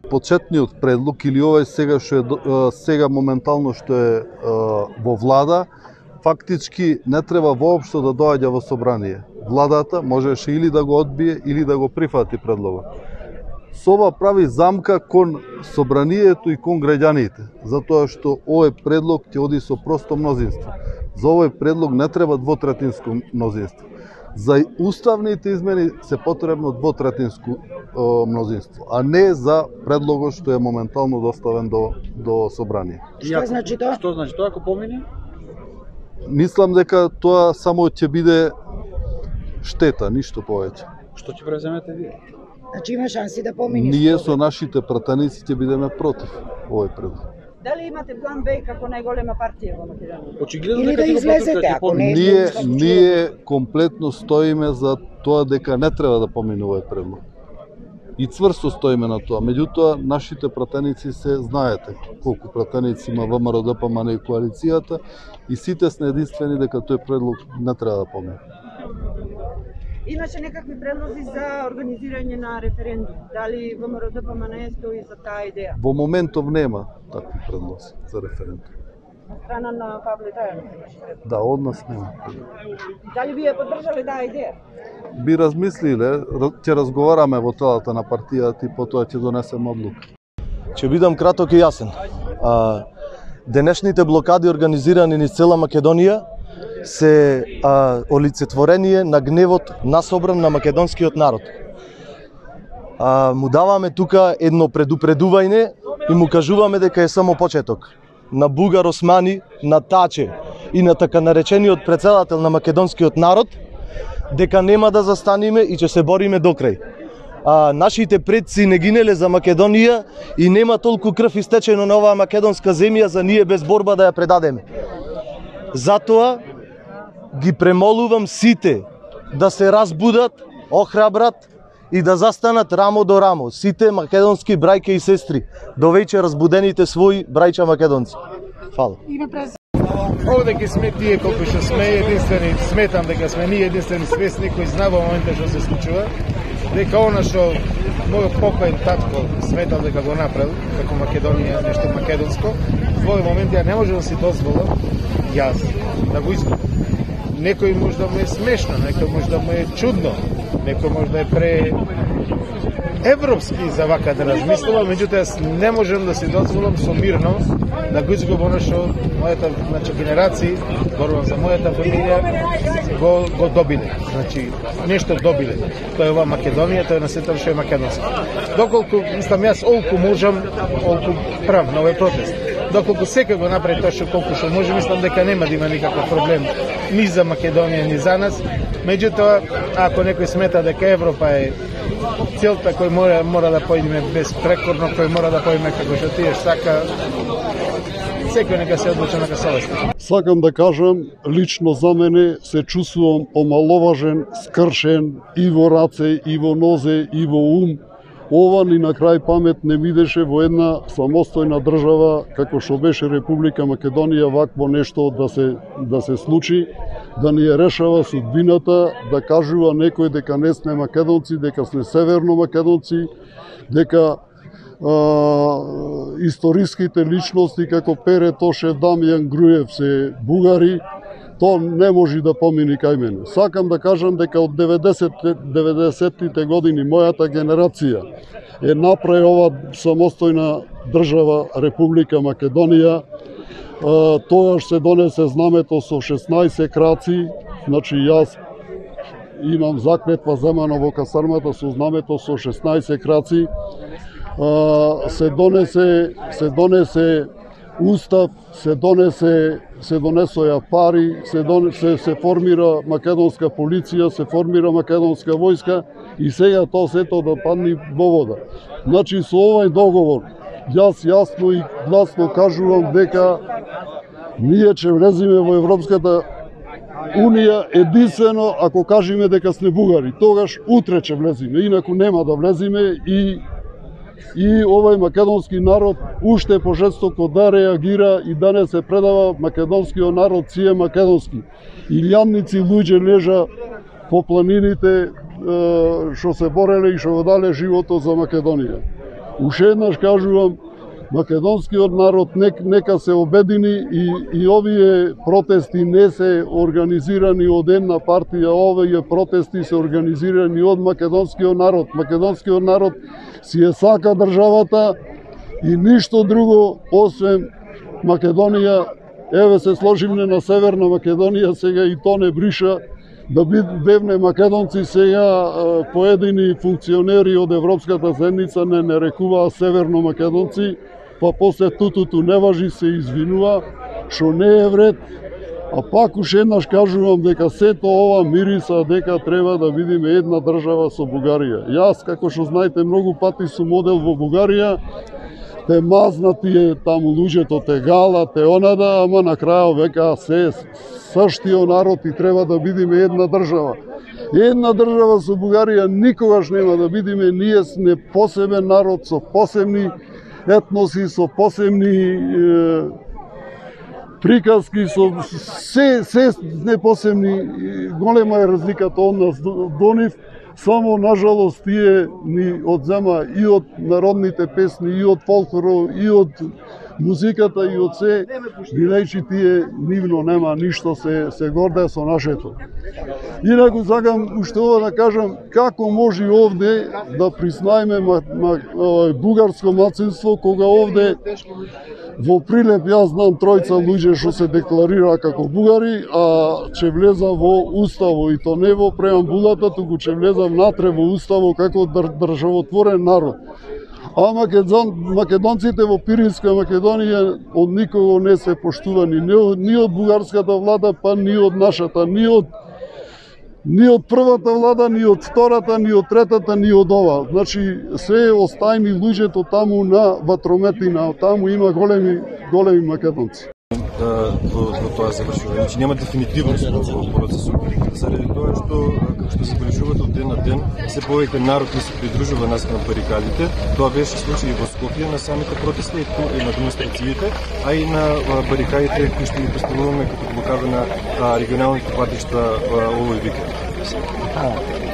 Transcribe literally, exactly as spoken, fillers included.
Почетниот предлог или овој сега што е сега моментално што е во влада, фактички не треба воопшто да доаѓа во собрание. Владата можеше или да го одбие или да го прифати предлогот. Со ова прави замка кон собранието и кон граѓаните, затоа што овој предлог ќе оди со просто мнозинство. За овој предлог не треба двотретинско мнозинство. За уставните измени се потребно двотретинско мнозинство, а не за предлогот што е моментално доставен до до собрание. Што значи тоа? Што значи тоа ако помине? Мислам дека тоа само ќе биде штета, ништо повеќе. Што ќе преземете вие? Значи има шанси да помине. Ние со нашите пратеници ќе бидеме против овој предлог. Дали имате план Б како најголема партија во Македонија? Очигледно Или да излезете ако не. Ние ние комплетно стоиме за тоа дека не треба да помине овој предлог. И цврсто стоиме на тоа. Меѓутоа, нашите пратеници се знаете колку пратеници има ВМРО-ДПМН и коалицијата и сите сме единствени дека тој предлог не треба да помине. Имаше некакви предлози за организирање на референдум. Дали ВМРО-ДПМН стои за таа идеја? Во моментов нема такви предлози за референдум. На страна на Павле Тајанов. Да, од нас нема. Дали вие поддржале таа идеја? Би размислиле, ќе разговараме во телата на партијата и потоа ќе донесеме одлука. Ќе бидам краток и јасен. А, денешните блокади организирани низ цела Македонија се а, олицетворение на гневот насобран на македонскиот народ. А, му даваме тука едно предупредување и му кажуваме дека е само почеток. На Бугар Османи, на Таче и на така наречениот претседател на македонскиот народ, дека нема да застаниме и ќе се бориме до крај. А, нашите предци не гинеле за Македонија и нема толку крв истечено на оваа македонска земја за ние без борба да ја предадеме. Затоа ги премолувам сите да се разбудат, охрабрат и да застанат рамо до рамо. Сите македонски брајке и сестри, довеќе разбудените своји брајча македонци. Фала. Овде ги сме тие колку што сме единствени, сметам дека сме ние единствени свесни кои знае во моментот што се случува, дека она што мојот покоен татко сметал дека го направил како Македонија нешто македонско, во овој момент ја не може да си дозволам јас да го изгубам. Некој може да му е смешно, некој може да му е чудно, некој може да е пре европски за вака да размислува, меѓутоа јас не можам да си дозволам со мирно да го изгубам она што мојата, значи, генерации, зборувам за мојата фамилија, го, го добиле. Значи, нешто добиле. Тоа е ова Македонија, тоа е на сето што е македонско. Доколку, мислам, јас олку можам, олку прав на овој протест. Доколку секој го направи тоа што колку што може, мислам дека нема да има никаков проблем ни за Македонија, ни за нас. Меѓутоа, ако некој смета дека Европа е целта кој мора, мора да појдеме безпрекорно, кој мора да појдеме како што тие сака, секој нека се одлучи на совест. Сакам да кажам, лично за мене се чувствувам омаловажен, скршен и во раце, и во нозе, и во ум. Ова ни на крај памет не видеше во една самостојна држава како што беше Република Македонија вакво нешто да се да се случи, да ни ја решава судбината, да кажува некој дека не сме македонци, дека сме северно македонци, дека а, историските личности како Пере Тошев, Дамјан Груев се бугари. Тоа не може да помини кај мене. Сакам да кажам дека од деветдесеттите години мојата генерација е направи ова самостојна држава Република Македонија. Тогаш се донесе знамето со шеснаесет краци, значи јас имам заклетва земана во касармата со знамето со шеснаесет краци. Се донесе, се донесе устав, се донесе се донесоја пари, се, дон, се, се формира македонска полиција, се формира македонска војска и сега тоа сето да падне во вода. Значи со овој договор јас јасно и гласно кажувам дека ние ќе влеземе во Европската Унија единствено ако кажеме дека сме бугари. Тогаш утре ќе влеземе, инаку нема да влеземе и и овој македонски народ уште пожестоко да реагира и да не се предава македонскиот народ си е македонски. Илјадници луѓе лежа по планините што се бореле и што го дале животот за Македонија. Уште еднаш кажувам, македонскиот народ нек, нека се обедини и, и овие протести не се организирани од една партија, овие протести се организирани од македонскиот народ. Македонскиот народ си е сака државата и ништо друго освен Македонија. Еве се сложивме на Северна Македонија, сега и то не бриша да бевне македонци. Сега поедини функционери од Европската заедница не нарекуваа северно македонци, па после тутуту не важи, се извинува, што не е вред. А пак уште еднаш кажувам дека сето ова мириса дека треба да видиме една држава со Бугарија. Јас, како што знаете, многу пати сум одел во Бугарија, те мазнати е таму луѓето, те гала, те онада, ама на крајот века се саштиот народ и треба да бидиме една држава. Една држава со Бугарија никогаш нема да бидиме, ние сме посебен народ со посебни етноси, со посебни е, приказки, со се, се не посебни, голема е разликата од нас до нив. Само, нажалост, тие ни одзема и од народните песни, и од фолклорот, и од музиката, и од се, бидејќи тие нивно нема ништо, се, се горде со нашето. Инаку сакам уште ова да кажам, како може овде да признаеме ма, ма, бугарско мацинство, кога овде во Прилеп јас знам тројца луѓе што се декларира како бугари, а ќе влеза во уставо, и то не во преамбулата, туку ќе влеза внатре во уставо како држ, државотворен народ. А македон, македонците во Пиринска Македонија од никого не се поштувани, ни од бугарската влада, па ни од нашата, ни од ни од првата влада, ни од втората, ни од третата, ни од ова. Значи, се остајни луѓето таму на ватрометина, таму има големи, големи македонци. Во, во тоа завршување. Значи нема дефинитивност во процесот, заради тоа што, како што забележувате од ден на ден, се повеќе народ не се придружува нас на барикадите. Тоа беше случај и во Скопје на самите протести и на демонстрациите, а и на барикадите кои што ги поставуваме като блокада на регионалните патишта овој викенд.